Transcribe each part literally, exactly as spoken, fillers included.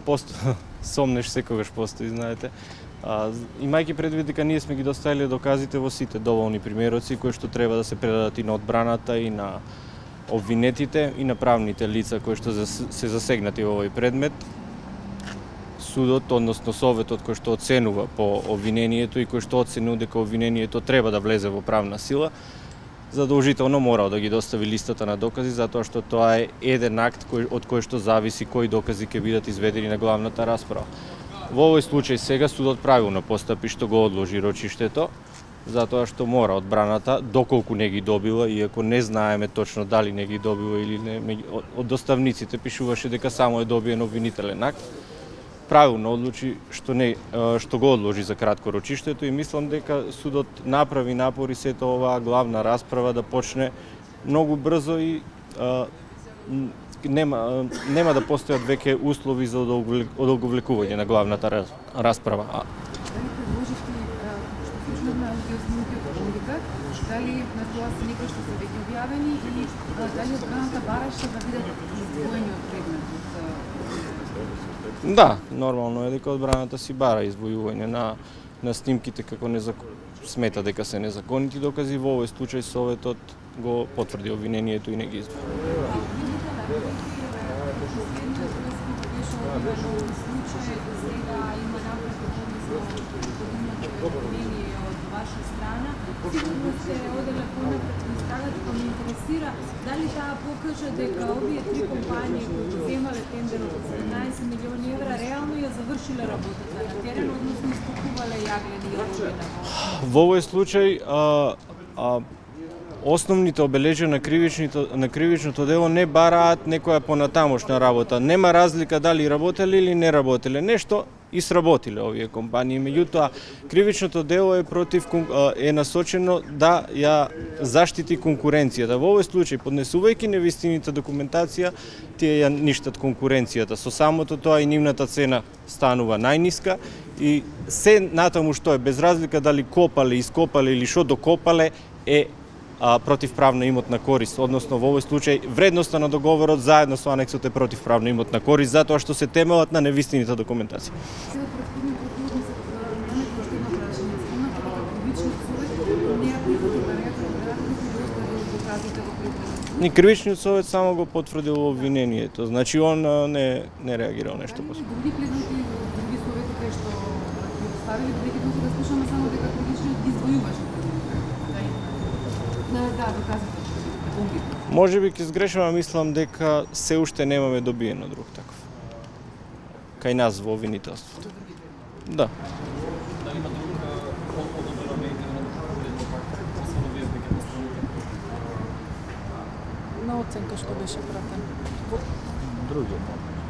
пост... сомнеш секогаш постои, знаете. А, имајќи предвид дека ние сме ги доставиле доказите во сите доволни примероци кои што треба да се предадат и на одбраната и на обвинетите и на правните лица кои што се засегнати во овој предмет, судот, односно советот кој што оценува по обвинението и кој што оценува дека обвинението треба да влезе во правна сила, задолжително морал да ги достави листата на докази, затоа што тоа е еден акт кој, од кој што зависи кои докази ќе бидат изведени на главната расправа. Во овој случај сега судот правилно постапи што го одложи рочиштето, затоа што мора одбраната, доколку не ги добила, иако не знаеме точно дали не ги добила или не, од доставниците пишуваше дека само е добиен обвинителен акт, правилно одлучи што не што го одложи за кратко рочиштето и мислам дека судот направи напори сето оваа главна расправа да почне многу брзо и а, нема нема да постојат веќе услови за одолговлекување на главната расправа. Дали на тоа се некои што се веќе објавени или дали одбраната бараше да бидат издвоени од предметот? Да, нормално е дека одбраната си бара извојување на на снимките како незак... смета дека се незаконити докази. Во овој случај советот го потврди обвинението и не ги извои. Сигурно се оделе понапред на страната, па ме интересира дали таа покажа дека овие три компании кои земале тендерот од седумнаесет милиони евра реално ја завршиле работата на терен, односно истокувале јаглени и рожена. Во овој случај а, а, основните обележја на кривичното на кривичното дело не бараат некоја понатамошна работа. Нема разлика дали работеле или не работеле. Нешто и сработиле овие компании. Меѓутоа, кривичното дело е против е насочено да ја заштити конкуренцијата. Во овој случај, поднесувајќи невистината документација, тие ја ништат конкуренцијата. Со самото тоа и нивната цена станува најниска и се натаму што е, без разлика дали копале, ископале или што докопале, е а, противправна имотна корист, односно во овој случај вредноста на договорот заедно со анексот е противправна имотна корист, затоа што се темелат на невистината документација. Ни кривичниот совет само го потврдил обвинението, значи он не не реагирал нешто после. Други предмети, други совети кои што ги оставили, бидејќи тука да слушаме само дека кривичниот ги извојуваше. Да, да, доказите. Може би ќе сгрешам, мислам дека се уште немаме добиено друг таков. Кај нас во обвинителството. Да. Дали има друг одобрено медијно на оценка што беше пратен? Други.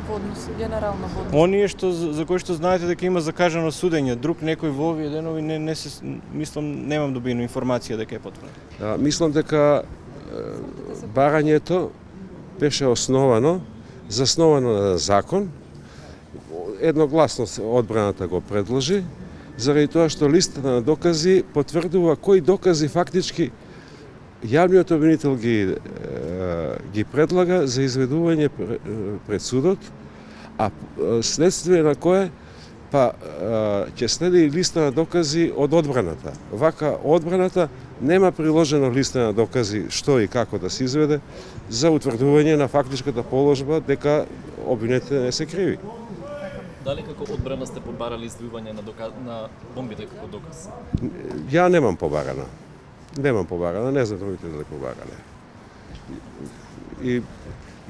Во однос, генерално во однос. Оние што за кои што знаете дека има закажано судење, друг некој во овие денови не не се мислам немам добиено информација дека е потврдено. Да, мислам дека барањето беше основано, засновано на закон. Едногласно одбраната го предложи, заради тоа што листата на докази потврдува кои докази фактички јавниот обвинител ги ги предлага за изведување пред судот, а следствие на кое па ќе следи листа на докази од одбраната. Вака одбраната нема приложено листа на докази што и како да се изведе за утврдување на фактичката положба дека обвинетите не се криви. Дали како одбрана сте побарали извојување на доказ на бомбите како доказ? Ја немам побарана. Немам побарана, не знам другите дали побарале. И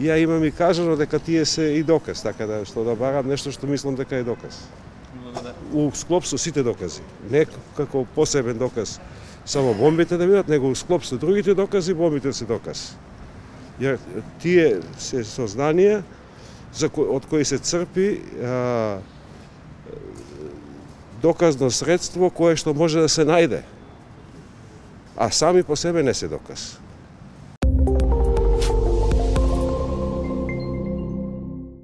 ја имам и кажано дека тие се и доказ, така да што да барам нешто што мислам дека е доказ. У склоп со сите докази, не како посебен доказ само бомбите да бидат, него у склоп со другите докази, бомбите се доказ. Ја тие се сознанија за кои, од кои се црпи а, доказно средство кое што може да се најде, а сами по себе не се доказ.